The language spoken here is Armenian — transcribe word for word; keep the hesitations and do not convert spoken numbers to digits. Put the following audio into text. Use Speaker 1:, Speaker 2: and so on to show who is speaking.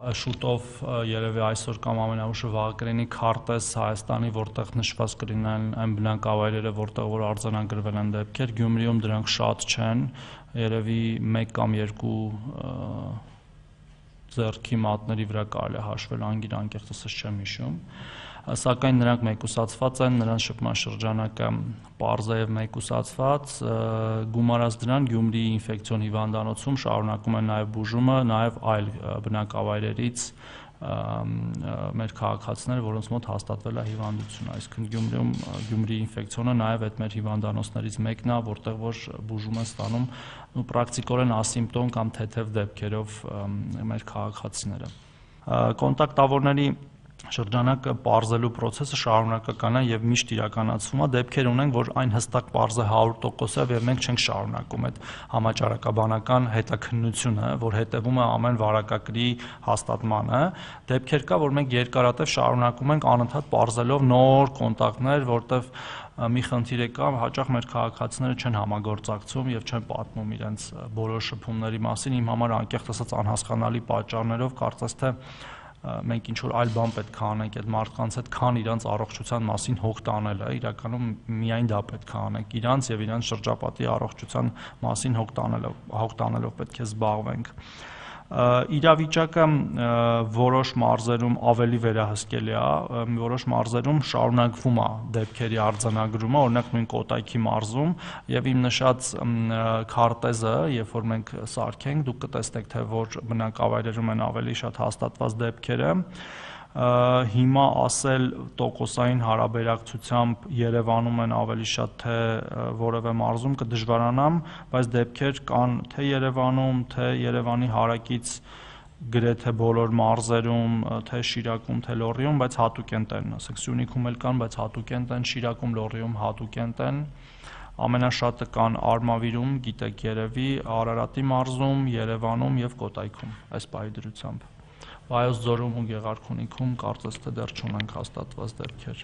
Speaker 1: Շուտով երևի այսօր կամ ամենաուշը վաղը կլինի քարտեզ Հայաստանի, որտեղ նշված կլինեն այն բնակավայրերը, որտեղ որ արձանագրվել են դեպքեր։ Գյումրիում դրանք շատ չեն, երևի մեկ կամ երկու ձեռքի մատների վրա կարելի է հաշվել, անգիր անկեղծ ասած չեմ հիշում, սակայն նրանք մեկուսացված են, նրանց շփման շրջանակը պարզ է և մեկուսացված, գումարած դրան Գյումրիի ինֆեկցիոն հիվանդանոցում շարունակում են նաև բուժումը, նաև այլ բնակավայրերից մեր քաղաքացիները, որոնց մոտ հաստատվել է հիվանդությունը, այսինքն Գյումրիում Գյումրիի ինֆեկցիոնը նաև այդ մեր հիվանդանոցներից մեկն է, որտեղ որ բուժում են ստանում պրակտիկորեն ասիմպտոմ կամ թեթև դեպքերով մեր քաղաքացիները։ Կոնտակտավորների շրջանակը պարզելու process-ը շարունակական է և միշտ իրականացվում է, դեպքեր ունենք, որ այն հստակ պարզ է հարյուր տոկոսով և մենք չենք շարունակում այդ համաճարակաբանական հետաքննությունը, որ հետևում է ամեն վարակագրի հաստատմանը, դեպքեր կա, որ մենք երկարատև շարունակում ենք անընդհատ պարզելով նոր կոնտակտներ, որտեղ մի խնդիր է կա, հաճախ մեր քաղաքացիները չեն համագործակցում և չեն պատմում իրենց բոլոր շփումների մասին, իմ համար անկեղծ ասած անհասկանալի պատճառներով, կարծես թե մենք ինչ-որ այլ բան պետք է անենք այդ մարդկանց հետ, քան իրանց առողջության մասին հոգ տանելը, իրականում միայն դա պետք է անենք, իրանց և իրանց շրջապատի առողջության մասին հոգ տանելով, հոգ տանելով պետք է զբաղվենք։ Իրավիճակը որոշ մարզերում ավելի վերահսկելի է, որոշ մարզերում շարունակվում է դեպքերի արձանագրումը, օրինակ նույն Կոտայքի մարզում և իմ նշած քարտեզը, երբ որ մենք սարքենք, դուք կտեսնեք, թե որ բնակավայրերում են ավելի շատ հաստատված դեպքերը, հիմա ասել տոկոսային հարաբերակցությամբ Երևանում են ավելի շատ, թե որևէ մարզում կդժվարանամ, բայց դեպքեր կան թե Երևանում, թե Երևանի հարակից գրեթե բոլոր մարզերում, թե Շիրակում, թե Լոռիում, բայց հատուկ են տեն, ասենք Սյունիքում էլ կան, բայց հատուկ են տեն, Շիրակում, Լոռիում հատուկ են տեն, ամենաշատը կան Արմավիրում, գիտեք երևի, Արարատի մարզում, Երևանում և Կոտայքում, այս պահի դրությամբ, Վայոց ձորում ու Գեղարքունիքում կարծես թե դեռ չունենք հաստատված դեպքեր։